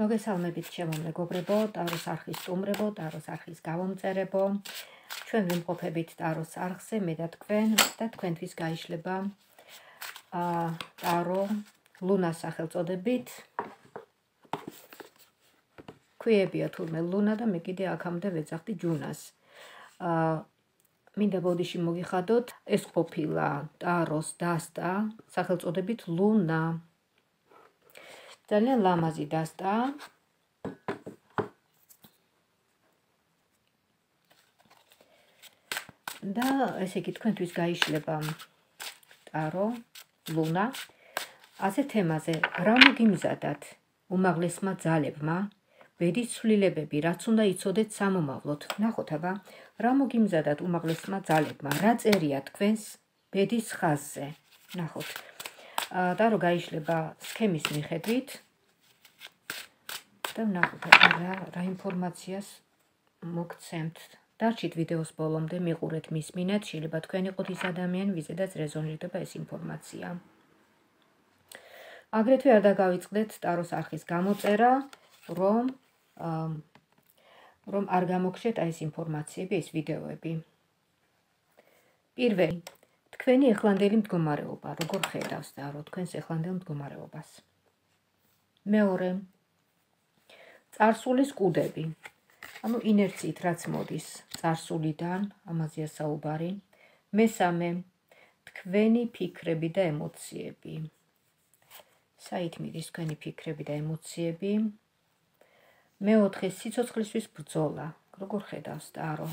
მოგესალმებით ჩემო მეგობრებო, ტაროს არხის სტუმრებო, ტაროს არხის გამომწერებო. ჩვენ ვიმყოფებით ტაროს არხზე, მე და თქვენთვის გაიშლება ტარო ლუნას სახელწოდებით. ქვიებია თურმე ლუნა და მე კიდე აქამდე ვეძახდი ჯუნას. მინდა ბოდიში მოგიხადოთ, ეს ყოფილა ტაროს დასტა სახელწოდებით ლუნა. ძალიან ლამაზი დასტა. და ესე იგი თქვენთვის გაიშლება ტარო ლუნა ასე თემაზე, რა მოგიმზადათ უმაღლესმა ძალებმა, ბედის ცვლილებები, რაც უნდა იცოდეთ სამომავლოდ. ნახოთ აბა, რა მოგიმზადათ უმაღლესმა ძალებმა, რა წერია თქვენს ბედის ხაზზე. ნახოთ. ტარო გაიშლება სქემის მიხედვით და ნახოთ რა ინფორმაციას მოგცემთ. დარჩით ვიდეოს ბოლომდე, მიყურეთ, მისმინეთ, შეიძლება თქვენ იყოთ ის ადამიანი, ვიზედაც რეზონირდება ეს ინფორმაცია. აგრეთვე არ დაგავიწყდეთ ტაროს არხის გამოწერა, რომ არ გამოგხდეთ ეს ინფორმაციები, ეს ვიდეოები. პირველი, თქვენი ეხლანდელი მდგომარეობა, როგორ ხედავს ტარო თქვენს ეხლანდელ მდგომარეობას. მეორე, წარსულის კუდები. ანუ ინერციით რაც მოდის წარსულიდან, ამაზეა საუბარი. მესამე, თქვენი ფიქრები და ემოციები. საით მიდის თქვენი ფიქრები და ემოციები. მეოთხე, სიცოცხლისთვის ბრძოლა. როგორ ხედავს ტარო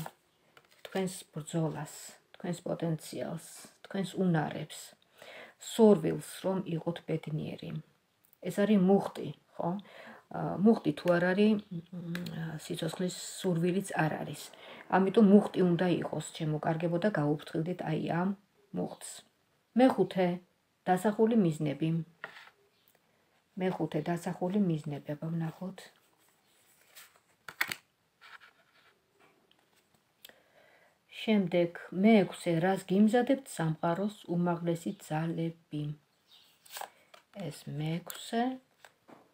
თქვენს ბრძოლას, თქვენს პოტენციალს, თქვენს უნარებს, სურვილს, რომ იყოთ ბედნიერი. ეს არის მუხტი, ხო? მუხტი თუ არ არის, სიცოცხლის სურვილიც არ არის. ამიტომ მუხტი უნდა იყოს, შემოკარგებო და გაუფრთხილდეთ აი ამ მუხტს. მეხუთე, დასახული მიზნები. აბა ვნახოთ. შემდეგ, მეექვსე, რას გიმზადებთ სამყაროს უმაღლესი ძალები. ეს მეექვსე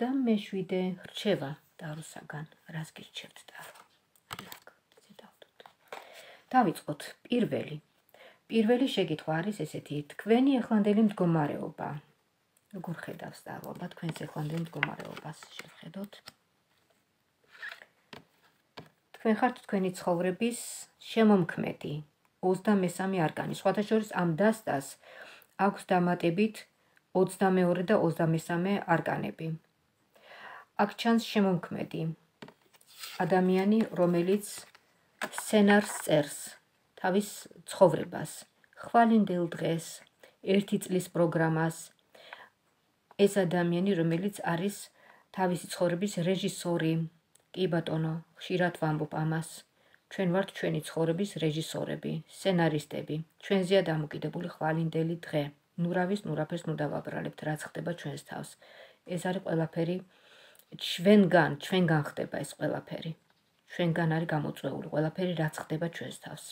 და მეშვიდე, რჩევა ტაროსაგან. რას გირჩევთ ტარო? დავიწყოთ. პირველი შეკითხვა არის ესეთი, თქვენი ეხლანდელი მდგომარეობა. როგორ ხედავს ტარო თქვენს ეხლანდელ მდგომარეობას? შევხედოთ. თქვენ ხართ თქვენი ცხოვრების შემომქმედი, 23 არკანი. სხვათა შორის ამ დასტას აქვს დამატებით 22 და 23 არკანები. აქ ჩანს შემომქმედი, ადამიანი, რომელიც სცენარს წერს თავის ცხოვრებას, ხვალინდელ დღეს, 1 წლის პროგრამას. ეს ადამიანი, რომელიც არის თავისი ცხოვრების რეჟისორი. კი ბატონო, ხშირად ვამბობ ამას. ჩვენ ვართ ჩვენი ცხოვრების რეჟისორები, სცენარისტები. ჩვენზეა დამოკიდებული ხვალინდელი დღე. ნურავის ნურაფერს ნუ დავაბრალებთ, რაც ხდება ჩვენს თავს. ეს არის ყველაფერი ჩვენგან ხდება ეს ყველაფერი. ჩვენგან არის გამოწვეული ყველაფერი, რაც ხდება ჩვენს თავს.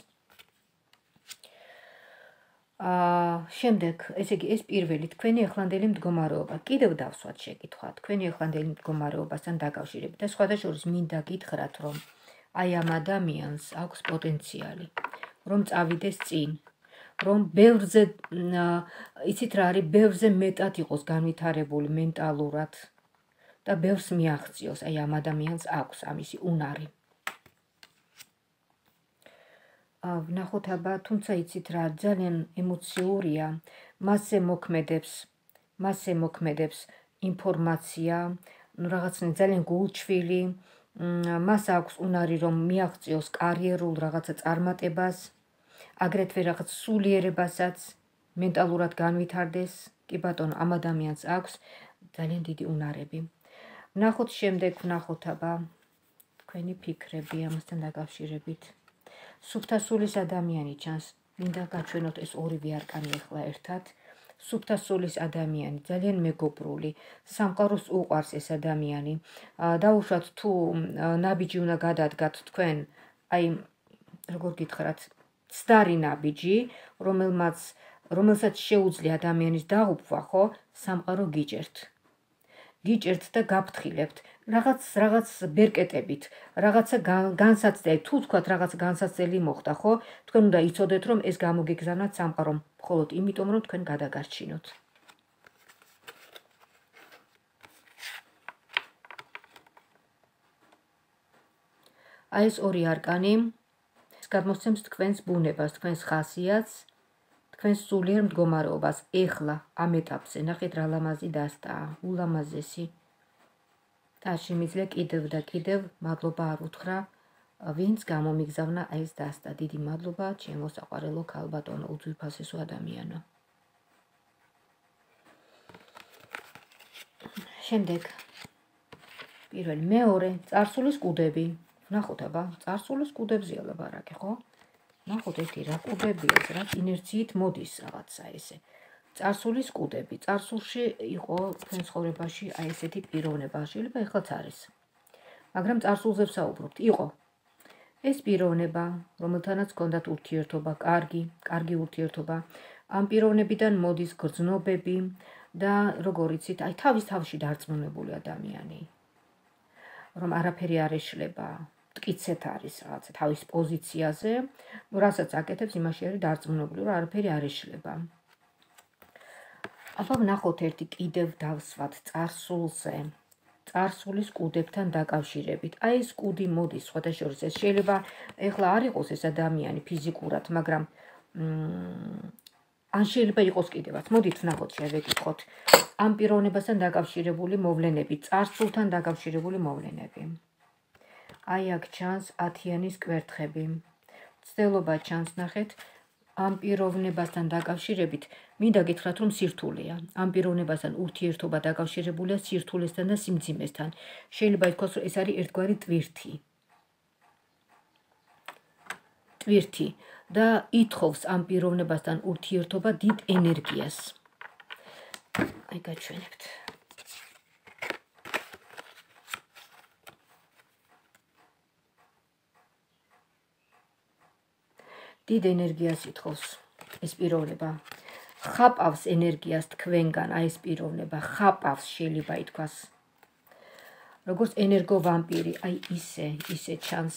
შემდეგ, ესე იგი, ეს პირველი, თქვენი ეხლანდელი მდგომარეობა. კიდევ დავსვათ შეკითხვა, თქვენი ეხლანდელი მდგომარეობასთან დაკავშირებით. და სხვადასხვა მინდა გითხრათ, რომ აი ამ ადამიანს აქვს პოტენციალი, რომ წავიდეს წინ, რომ ბევრზე, იცით რა არის, ბევრზე მეტად იყოს განვითარებული მენტალურად და ბევრს მიაღწიოს. აი ამ ადამიანს აქვს ამისი უნარი. ვნახოთ აბა, თუმცა იცით რა, ძალიან ემოციურია, მასზე მოქმედებს ინფორმაცია, რაღაცნაირად ძალიან გულჩვილი, მას აქვს უნარი, რომ მიაღწიოს კარიერულ რაღაცა წარმატებას, აგრეთვე რაღაც სულიერებასაც, მენტალურად განვითარდეს. კი ბატონო, ამ ადამიანს აქვს ძალიან დიდი უნარები. ვნახოთ შემდეგ, ვნახოთ აბა, თქვენი ფიქრები ამასთან დაკავშირებით. სუფთა სულის ადამიანი ჩანს. მინდა გაჩვენოთ ეს ორივე არკანი ახლა ერთად. სუფთა სულის ადამიანი, ძალიან მეგობრული, სამყაროს უყვარს ეს ადამიანი. დაუშვათ თუ ნაბიჯი უნდა გადადგათ თქვენ, აი, როგორ გითხრათ, ცდარი ნაბიჯი, რომელსაც შეუძლია ადამიანის დაღუპვა, ხო, სამყარო გიჭერთ. გიჭერთ და გაფრთხილებთ რაღაც ბერკეტებით, რაღაცა განსაცდელი, თუ თქვათ რაღაცა განსაცდელი მოხდა, ხო? თქვენ უნდა იცოდეთ, რომ ეს გამოგეგზავნათ სამყარომ, მხოლოდ იმიტომ, რომ თქვენ გადაგარჩინოთ. აი ეს ორი არკანი გადმოსცემს თქვენს ბუნებას, თქვენს ხასიათს, თქვენს სულიერ მდგომარეობას. ეხლა ამ ეტაპზე ნახეთ რა ლამაზი დასტაა, ულამაზესი. და შემიძლია კიდევ და კიდევ მადლობა არ უთხრა, ვინც გამომიგზავნა აი ეს დასტა. დიდი მადლობა ჩემო საყვარელო ქალბატონო, უძვირფასესო ადამიანო. შემდეგ პირველი, მეორე, წარსულის კუდები. ნახოთ აბა, წარსულის კუდებზეა ლაპარაკი, ხო? ნახოთ ერთი რა კუდებია, რაც ინერციით მოდის რაღაცა ესე. წარსულის კუდები. წარსულში იყო თქვენ ცხოვრებაში აი ესეთი პიროვნება, შეიძლება ეხლაც არის. მაგრამ წარსულზე ვსაუბრობთ. იყო ეს პიროვნება, რომელთანაც ჰქონდათ ურთიერთობა, კარგი ურთიერთობა. ამ პიროვნებიდან მოდის გრძნობები და როგორ იცით, აი თავის თავში დარწმუნებული ადამიანი. რომ არაფერი არ ეშლება, მტკიცეთ არის რაღაცა თავის პოზიციაზე, რასაც აკეთებს, იმაში არის დარწმუნებული, რომ არაფერი არ ეშლება. აბა ვნახოთ ერთი კიდევ დავსვათ წარსულზე. წარსულის კუდებთან დაკავშირებით. აი ეს კუდი მოდის, სხვადასხვა ეს შეიძლება ეხლა არ იყოს ეს ადამიანი ფიზიკურად, მაგრამ ან შეიძლება იყოს კიდევაც. მოდით ვნახოთ, შევეკითხოთ. ამ პიროვნებასთან დაკავშირებული მოვლენები, წარსულთან დაკავშირებული მოვლენები. აი აქ ჩანს 10-იანის კვერთხები. ცდელობა ჩანს, ნახეთ, ამ პიროვნებასთან დაკავშირებით, მინდა გითხრათ, რომ სირთულეა. ამ პიროვნებასთან ურთიერთობა დაკავშირებულია სირთულესთან და სიმძიმესთან. შეიძლება ითქვას, რომ ეს არის ერთგვარი ტვირთი და ითხოვს ამ პიროვნებასთან ურთიერთობა დიდ ენერგიას. აი გაჩვენებთ. დიდ ენერგიას ითხოვს ეს პიროვნება. ხაპავს ენერგიას თქვენგან, აი ეს პიროვნება ხაპავს, შეიძლება ითქვას. როგორც ენერგოვამპირი, აი ისე ჩანს.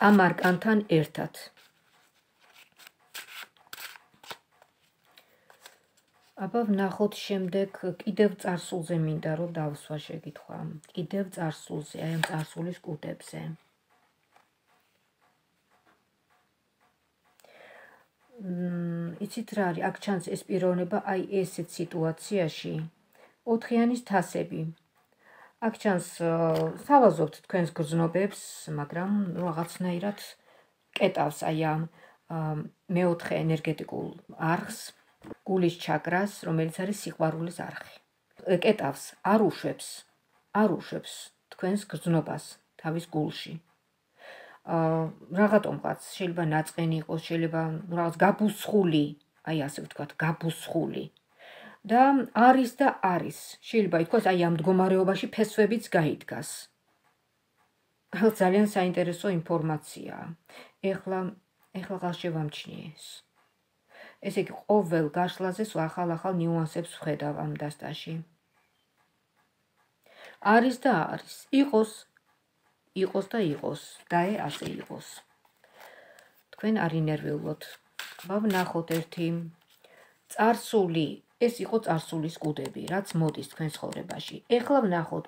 ამ არკანთან ერთად. აბა ვნახოთ შემდეგ კიდევ წარსულზე მინდა რომ დავსვა შეკითხვა. კიდევ წარსულზე, აი ამ წარსულის კუდებზე. იცით რა არის, აქ ჩანს ეს პიროვნება აი ესეთ სიტუაციაში 4-იანის თასები. აქ ჩანს სავაზობთ თქვენს გრძნობებს, მაგრამ რაღაცნაირად კეტავს აი ამ მეოთხე ენერგეტიკულ არხს, გულის ჩაკრას, რომელიც არის სიყვარულის არხი. კეტავს, არ უშვებს თქვენს გრძნობას თავის გულში. რაღაცომღაც შეიძლება ნაწყენი იყოს, შეიძლება რაღაც გაბუსხული, აი ასე ვთქვათ, გაბუსხული. და არის, შეიძლება ითქვას, აი ამ მდგომარეობაში ფესვებიც გაიდგას. ძალიან საინტერესო ინფორმაციაა. ეხლა შევამჩნიე ეს. ესე იგი, ყოველ გაშლაზე ახალ ნიუანსებს ვხედავ ამ დასტაში. არის და არის, იყოს და ასე იყოს. თქვენ არ ინერვიულოთ. ვნახოთ ერთი წარსული, ეს იყო წარსულის კუდები, რაც მოდის თქვენ ცხოვრებაში. ეხლა ვნახოთ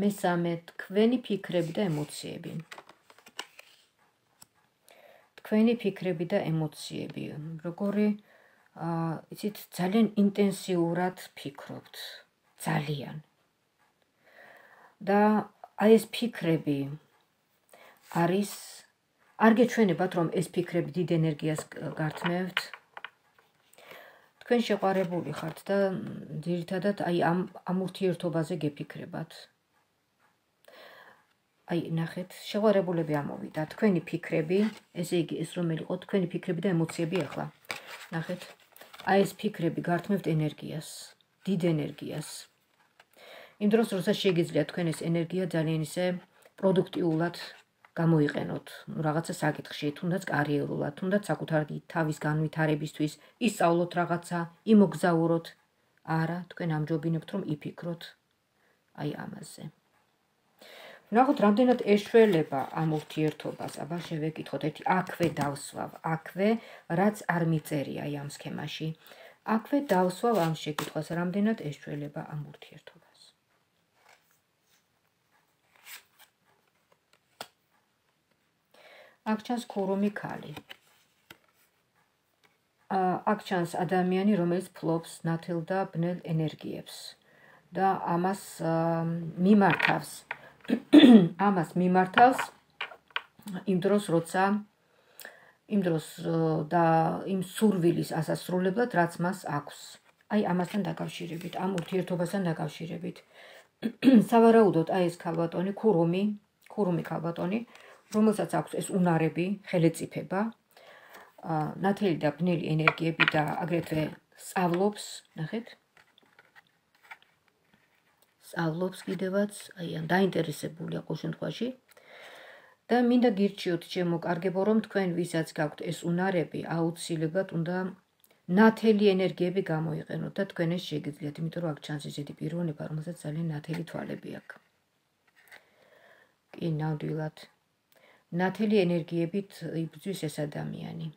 მესამე თქვენი ფიქრები და ემოციები. თქვენი ფიქრები და ემოციები, როგორი, იცით, ძალიან ინტენსიურად ფიქრობთ, ძალიან. და აი ეს ფიქრები არის, არ გეჩვენებათ, რომ ეს ფიქრები დიდ ენერგიას გართმევთ. თქვენ შეყვარებული ხართ და ძირითადად აი ამ ურთიერთობაზე გეფიქრებათ. აი ნახეთ, შეყვარებულები ამოვიდა, თქვენი ფიქრები, ესე იგი ეს რომელი იყო თქვენი ფიქრები და ემოციები ახლა. ნახეთ, აი ეს ფიქრები გართმევთ ენერგიას, დიდ ენერგიას. იმ დროს, როდესაც შეგიძლია თქვენ ეს ენერგია ძალიან ისე პროდუქტიულად გამოიყენოთ, რაღაცა საკითხში, თუნდაც კარიერულად, თუნდაც საკუთარი თავის განვითარებისთვის, ისწავლოთ რაღაცა, იმოგზაუროთ. არა, თქვენ ამჯობინებთ, რომ იფიქროთ აი ამაზე. ნახოთ, რამდენად ეშველება ამ ურთიერთობას. აბა შევეკითხოთ, ერთი აქვე დავსვავ, აქვე, რაც არ მიწერია აი ამ სქემაში. აქვე დავსვავ ამ შეკითხვას, რამდენად ეშველება ამ ურთიერთობას. აქ ჩანს ქურუმი ქალი. აქ ჩანს ადამიანი, რომელიც ფლობს ნათელ და ბნელ ენერგიებს და ამას მიმართავს იმ დროს, როცა იმ დროს და იმ სურვილის ასასრულებლად, რაც მას აქვს. აი ამასთან დაკავშირებით, ამ ურთიერთობასთან დაკავშირებით. სავარაუდოდ აი ეს ქალბატონი, ქურუმი ქალბატონი, რომელსაც აქვს ეს უნარები, ხელეწიფება, ნათელი და ბნელი ენერგიები და აგრეთვე სწავლობს, ნახეთ. სწავლობს კიდევაც, აი ამ დაინტერესებულია ყოველ შემთხვევაში. და მინდა გირჩიოთ ჩემო კარგებო, რომ თქვენ ვისაც გაქვთ ეს უნარები, აუცილებლად უნდა ნათელი ენერგიები გამოიყენოთ და თქვენ ეს შეგიძლიათ, იმიტომ რომ აქ ჩანს ესეთი პიროვნება, რომელსაც ძალიან ნათელი თვალები აქვს. კი, ნამდვილად. ნათელი ენერგიებით იბრძვის ეს ადამიანი.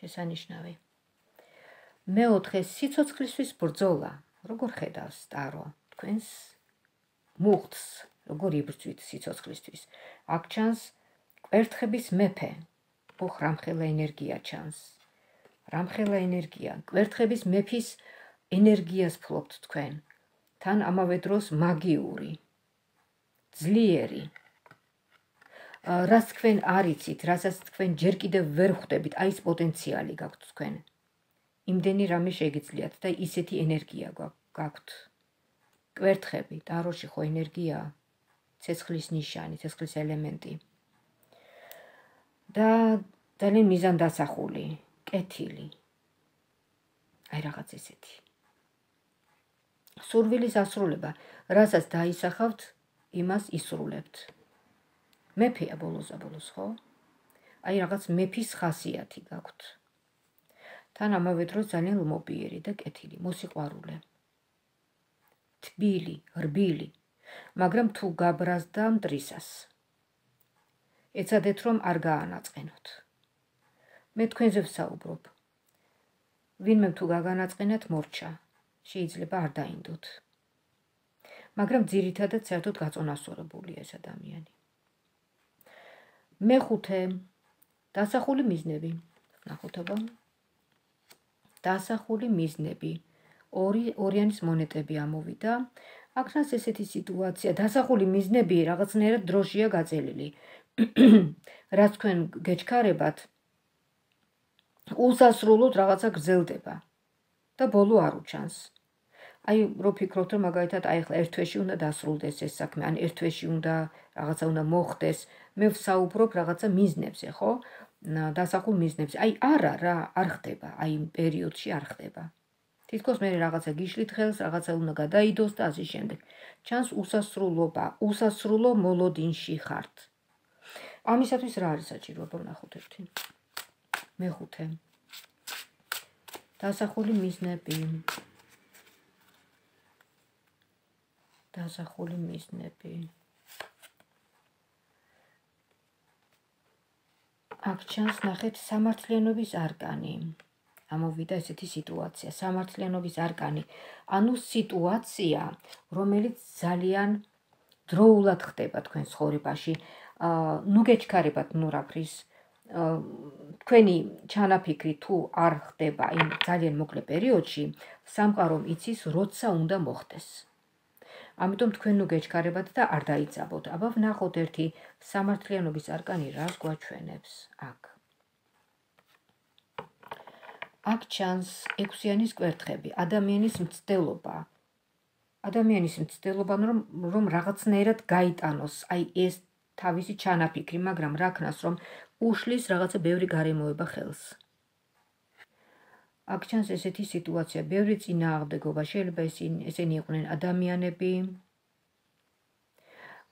შესანიშნავი. მეოთხე, სიცოცხლისთვის ბრძოლა. როგორ ხედავს ტარო თქვენს მუხტს, როგორ იბრძვით სიცოცხლისთვის? აქ ჩანს კვერთხების მეფე. ოხ, რამხელა ენერგია ჩანს. რამხელა ენერგია. კვერთხების მეფის ენერგიას ფლობთ თქვენ. თან ამავე დროს მაგიური, ძლიერი. რას თქვენ არ იცით, რასაც თქვენ ჯერ კიდევ ვერ ხვდებით, აი ეს პოტენციალი გაქვთ თქვენ. იმდენი რამე შეგიძლიათ და ისეთი ენერგია გაქვთ. კვერთხები, ტაროში ხო ენერგია, ცეცხლის ნიშანი, ცეცხლის ელემენტი. და ძალიან მიზანდასახული, კეთილი. აი რაღაც ესეთი. სურვილის ასრულება, რასაც დაისახავთ, იმას ისრულებთ. მეფეა ბოლოს, ხო? აი რაღაც მეფის ხასიათი გაქვთ. თან ამავე დროს ძალიან ლმობიერი და კეთილი, მოსიყვარულე. თბილი, რბილი, მაგრამ თუ გაბრაზდა მტრისას. ეცადეთ რომ არ გაანაწყენოთ. მე თქვენზე ვსაუბრობ. ვინმე თუ გაგანაწყენათ მორჩა, შეიძლება არ დაინდოთ. მაგრამ ძირითადად საერთოდ გაწონასწორებულია ეს ადამიანი. მეხუთე, დასახული მიზნები. ნახოთ აბა. დასახული მიზნები. ორიანის მონეტები ამოვიდა. აქ ჩანს ესეთი სიტუაცია, დასახული მიზნები რაღაცნაირად დროშია გაწელილი. რაც თქვენ გეჩქარებათ, უსასრულოდ რაღაცა გრძელდება და ბოლო არ უჩანს. აი რო ფიქრობთ, რომ მაგალითად აი ახლა ერთ თვეში უნდა დასრულდეს ეს საქმე, ან ერთ თვეში უნდა რაღაცა უნდა მოხდეს, მე ვსაუბრობ რაღაცა მიზნებზე, ხო? დასახულ მიზნებზე. აი არა რა, არ ხდება, აი იმ პერიოდში არ ხდება. თითქოს მე რაღაცა გიშლით ხელს, რაღაცა უნდა გადაიდოს და ასე შემდეგ. ჩანს უსასრულობა, უსასრულო მოლოდინში ხართ. ამისათვის რა არის საჭირო, ვნახოთ ერთი. მეხუთე. დასახული მიზნები. დასახული მიზნები. აქ ჩანს, ნახეთ, სამართლიანობის არკანი. ამოვიდა ესეთი სიტუაცია, სამართლიანობის არკანი. ანუ სიტუაცია, რომელიც ძალიან დროულად ხდება თქვენ ცხოვრებაში. ნუ გეჩქარებათ ნურაფრის, თქვენი ჩანაფიქრი თუ არ ხდება იმ ძალიან მოკლე პერიოდში, სამყარომ იცის, როცა უნდა მოხდეს. ამიტომ თქვენ ნუ გეჩქარებათ და არ დაიძაბოთ. აბა ვნახოთ ერთი სამართლიანობის არკანი რას გვაჩვენებს აქ. აქ ჩანს ექვსიანის კვერთხები, ადამიანის მცდელობა. ადამიანის მცდელობა, რომ რაღაცნაირად გაიტანოს აი ეს თავისი ჩანაფიქრი, მაგრამ რა ქნას, რომ უშლის რაღაცა ბევრი გარემოება ხელს. აქ ჩანს ესეთი სიტუაცია, ბევრი წინააღმდეგობა, შეიძლება ესენი იყვნენ ადამიანები,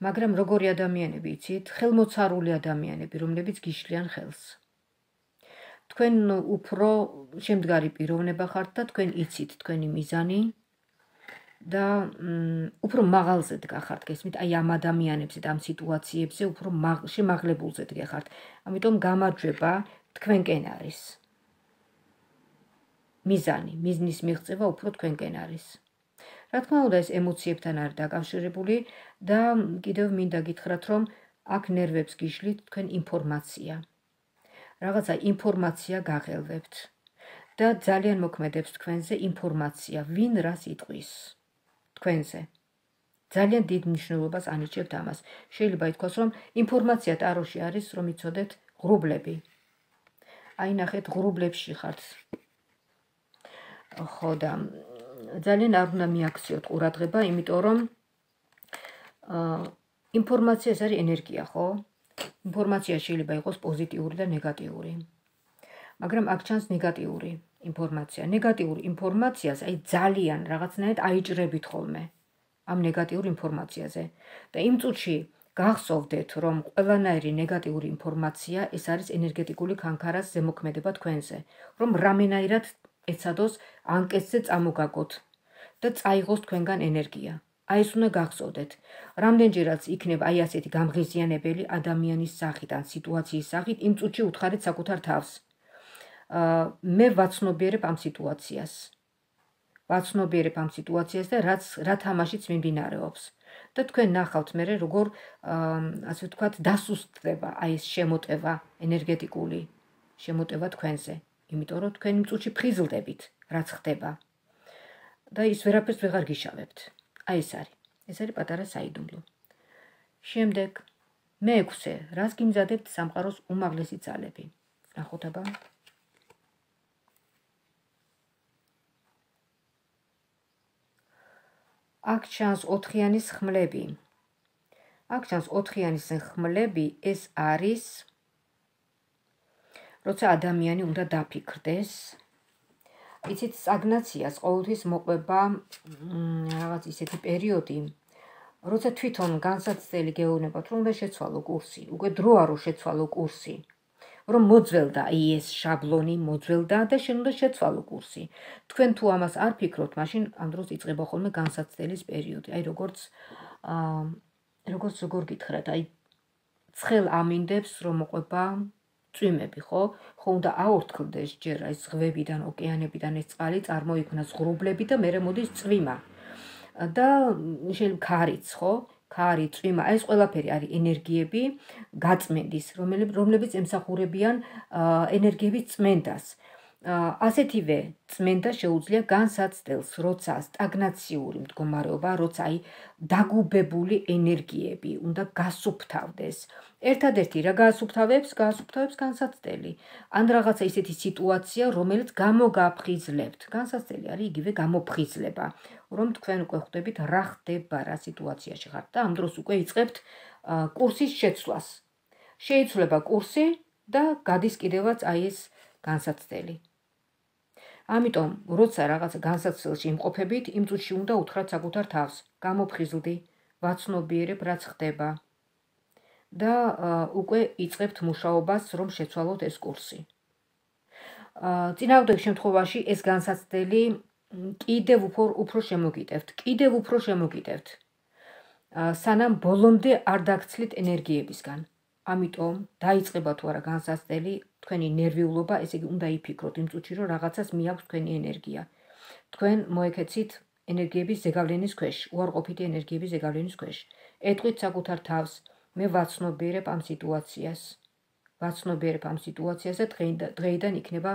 მაგრამ როგორი ადამიანები იცით? ხელმოცარული ადამიანები, რომლებიც გიშლიან ხელს. თქვენ უფრო შემდგარი პიროვნება ხართ და თქვენ იცით თქვენი მიზანი და უფრო მაღალზე დგახართ, გესმით, აი ამ ადამიანებზე და ამ სიტუაციებზე უფრო შემაღლებულზე დგახართ. ამიტომ გამარჯვება თქვენკენ არის. მიზანი, მიზნის მიღწევა უფრო თქვენკენ არის. რა თქმა უნდა, ეს ემოციებთან არის დაკავშირებული და კიდევ მინდა გითხრათ, რომ აქ ნერვებს გიშლით თქვენ ინფორმაცია. რაღაცა ინფორმაცია გაღელვებთ და ძალიან მოქმედებს თქვენზე ინფორმაცია, ვინ რას იტყვის თქვენზე. ძალიან დიდ მნიშვნელობას ანიჭებთ ამას. შეიძლება ითქვას, რომ ინფორმაცია ტაროში არის, რომ იცოდეთ ღრუბლები. აი ნახეთ, ღრუბლებში ხართ. ხო და ძალიან არ უნდა მიაქციოთ ყურადღება, იმიტომ რომ ინფორმაცია ეს არის ენერგია, ხო? ინფორმაცია შეიძლება იყოს პოზიტიური და ნეგატიური. მაგრამ აქ ჩანს ნეგატიური ინფორმაცია. ნეგატიურ ინფორმაციას აი ძალიან რაღაცნაირად აიჭრებით ხოლმე ამ ნეგატიურ ინფორმაციაზე. და იმ წუთში გახსოვდეთ, რომ ყველანაირი ნეგატიური ინფორმაცია ეს არის ენერგეტიკული ქანქარას ზემოქმედება თქვენზე, რომ რამენაირად ეცადოს ანკეცზე წამოგაგოთ და წაიღოს თქვენგან ენერგია. აი ეს უნდა გახსოვდეთ. რამდენჯერაც იქნება აი ასეთი გამღიზიანებელი ადამიანის სახით ან სიტუაციის სახით, იმ წუთში უთხარით საკუთარ თავს. მე ვაცნობიერებ ამ სიტუაციას. ვაცნობიერებ ამ სიტუაციას და რა თამაშიც მიმდინარეობს. და თქვენ ნახავთ მერე როგორ ასე ვთქვათ დასუსტდება აი ეს შემოტევა ენერგეტიკული შემოტევა თქვენზე. იმიტომ რომ თქვენ იმ წუთში ფხიზლდებით, რაც ხდება. და ის ვერაფერს ვეღარ გიშავებთ. აი ეს არის პატარა საიდუმლო. შემდეგ მე-6, რას გიმზადებთ სამყაროს უმაღლესი ძალები? ნახოთ აბა. აქ ჩანს 4-იანის ხმლები. აქ ჩანს 4-იანის ხმლები, ეს არის როცა ადამიანი უნდა დაფიქრდეს. იცით, სტაგნაციას ყოველთვის მოყვება რაღაც ისეთი პერიოდი, როცა თვითონ განსაცდელი გეუბნებათ, რომ უნდა შეცვალო კურსი, უკვე დროა რომ შეცვალო კურსი, რომ მოძველდა აი ეს შაბლონი, მოძველდა და შენ უნდა შეცვალო კურსი. თქვენ თუ ამას არ ფიქრობთ, მაშინ ამ დროს იწყება ხოლმე განსაცდელის პერიოდი. აი როგორ გითხრათ, აი ცხელ ამინდებს რომ მოყვება წვიმები, ხო? ხო უნდა აორთქლდეს ჯერ აი ზღვებიდან, ოკეანებიდან ეს წყალი, წარმოიქმნას ღრუბლები და მერე მოდის წვიმა. და შეიძლება ქარიც, ხო? ქარი, წვიმა, ეს ყველაფერი არის ენერგიები გაწმენდის, რომლებიც ემსახურებიან ენერგიების წმენდას. ასეთივე წმენდა შეუძლია განსაცდელს, როცა სტაგნაციური მდგომარეობა, როცა აი დაგუბებული ენერგიები უნდა გასუფთავდეს. ერთადერთი რა გაასუფთავებს განსაცდელი. ან რაღაცა ისეთი სიტუაცია, რომელიც გამოგაფხიზლებთ. განსაცდელი არის იგივე გამოფხიზლება, რომ თქვენ უკვე ხვდებით რა ხდება, რა სიტუაციაში ხართ და ამ დროს უკვე იწყებთ კურსის შეცვლას. შეიცვლება კურსი და გადის კიდევაც აი ეს განსაცდელი. ამიტომ, როცა რაღაცა განსაცდელში იმყოფებით, იმ წუთში უნდა უთხრათ საკუთარ თავს, გამოფხიზლდი, ვაცნობიერებ რაც ხდება. და უკვე იწყებთ მუშაობას, რომ შეცვალოთ ეს კურსი. წინააღმდეგ შემთხვევაში ეს განსაცდელი კიდევ უფრო შემოგიტევთ. სანამ ბოლომდე არ დაგცლით ენერგიებისგან. ამიტომ დაიწყება თუ არა განსაცდელი, თქვენი ნერვიულობა, ესე იგი უნდა იფიქროთ იმ წუთში, რომ რაღაცას მიაქვს თქვენი ენერგია. თქვენ მოექეცით ენერგიების ზეგავლენის ქვეშ, უარყოფითი ენერგიების ზეგავლენის ქვეშ. ეტყვით საკუთარ თავს, მე ვაცნობიერებ ამ სიტუაციას. და დღეიდან იქნება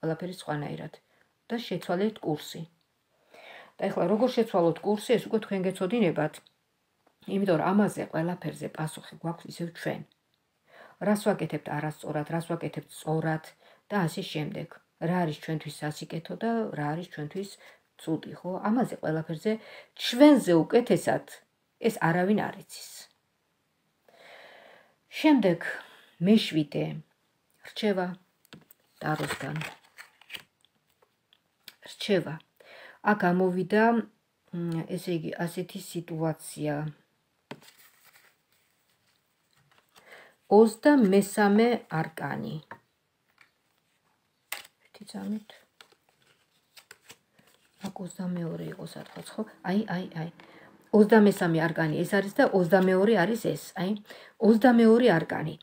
ყველაფერი სხვანაირად. და შეცვალეთ კურსი. და ეხლა როგორ შეცვალოთ კურსი, ეს უკვე თქვენ გეცოდინებათ. იმიტომ რომ ამაზე ყველაფერზე პასუხი გვაქვს ისევ ჩვენ. რას ვაკეთებთ არასწორად, რას ვაკეთებთ სწორად და ასე შემდეგ. რა არის ჩვენთვის სასიკეთო და რა არის ჩვენთვის ცუდი, ხო? ამაზე ყველაფერზე ჩვენზე უკეთესად ეს არავინ არ იცის. შემდეგ მე-7 რჩევა ტაროსგან. რჩევა. აქ ამოვიდა ესე იგი ასეთი სიტუაცია. 23 არკანი. ერთი წამით. აქ 22 იყო სადღაც, ხო? აი. 23 არკანი ეს არის და 22 არის ეს. აი, 22 არკანი.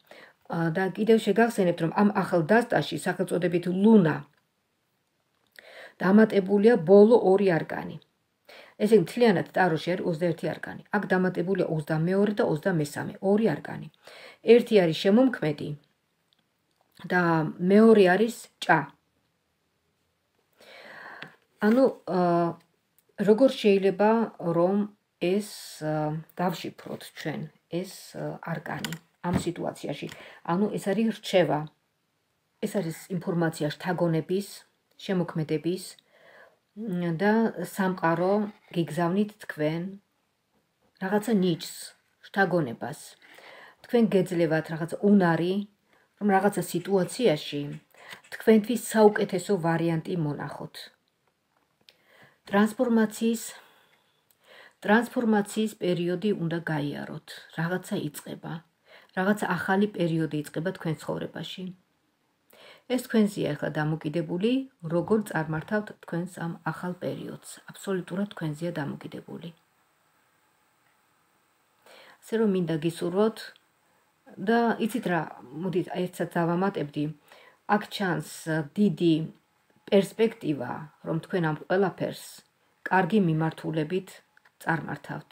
და კიდევ შეგახსენებთ, რომ ამ ახალ დასტაში სახელწოდებით ლუნა დამატებულია ბოლო 2 არკანი. ესე იგი, მთლიანად ტაროში არის 21 არკანი. აქ დამატებულია 22 და 23, 2 არკანი. ერთი არის შემომქმედი და მეორე არის ჭა. ანუ როგორ შეიძლება რომ ეს დავშიფროთ ჩვენ ეს არკანი ამ სიტუაციაში? ანუ ეს არის რჩევა. ეს არის ინფორმაცია შთაგონების, შემოქმედების და სამყარო გიგზავნით თქვენ რაღაცა ნიჭს, შთაგონებას. თქვენ გეძლევათ რაღაცა უნარი, რომ რაღაცა სიტუაციაში თქვენთვის საუკეთესო ვარიანტი მონახოთ. ტრანსფორმაციის პერიოდი უნდა გაიაროთ. რაღაცა იწყება. რაღაცა ახალი პერიოდი იწყება თქვენ ცხოვრებაში. ეს თქვენზეა ახლა დამოკიდებული, როგორ წარმართავთ თქვენს ამ ახალ პერიოდს. აბსოლუტურად თქვენზეა დამოკიდებული. ასე რომ მინდა გისურვოთ და იცით რა, მოდით ერთსაც დავამატებდი. აქ ჩანს დიდი პერსპექტივა, რომ თქვენ ამ ყველაფერს კარგი მიმართულებით წარმართავთ.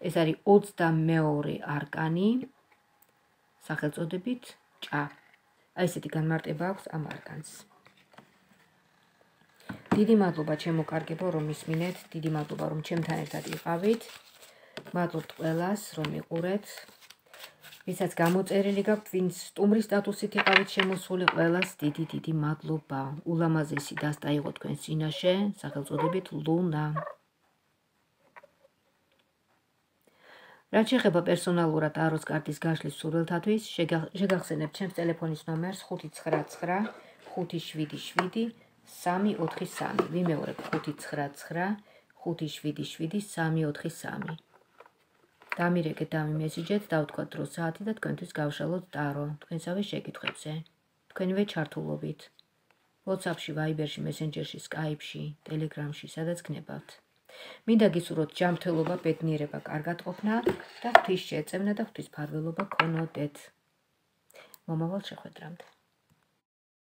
ეს არის 22 არკანი სახელწოდებით ჭა. აი ესეთი განმარტება აქვს ამ არკანს. დიდი მადლობა ჩემო კარგებო, რომ მისმინეთ, დიდი მადლობა რომ ჩემთან ერთად იყავით. მადლობთ ყველას, რომ იყურეთ. ვისაც გამოწერილი გაქვთ, ვინც სტუმრის სტატუსით იყავით შემოსული, ყველას დიდი მადლობა. ულამაზესი დასტა იყო თქვენ წინაშე, სახელწოდებით ლუნა. რაც შეეხება პერსონალურად ტაროს კარტის გაშლის სურვილთათვის, შეგახსენებთ ჩემს ტელეფონის ნომერს 599 577 343. ვიმეორებ 599 577 343. დამირეკეთ, დამიმესიჯეთ, დავთქვათ დრო საათი და თქვენთვის გავშალოთ ტარო თქვენსავე შეკითხვებზე. თქვენივე ჩართულობით. WhatsApp-ში, Viber-ში, Messenger-ში, Skype-ში, Telegram-ში, სადაც გნებავთ. მინდა გისურვოთ ჯანმრთელობა, ბედნიერება, კარგად ყოფნა და ღვთის შეწევნა და ღვთისმფარველობა გქონოდეთ. მომავალ შეხვედრამდე.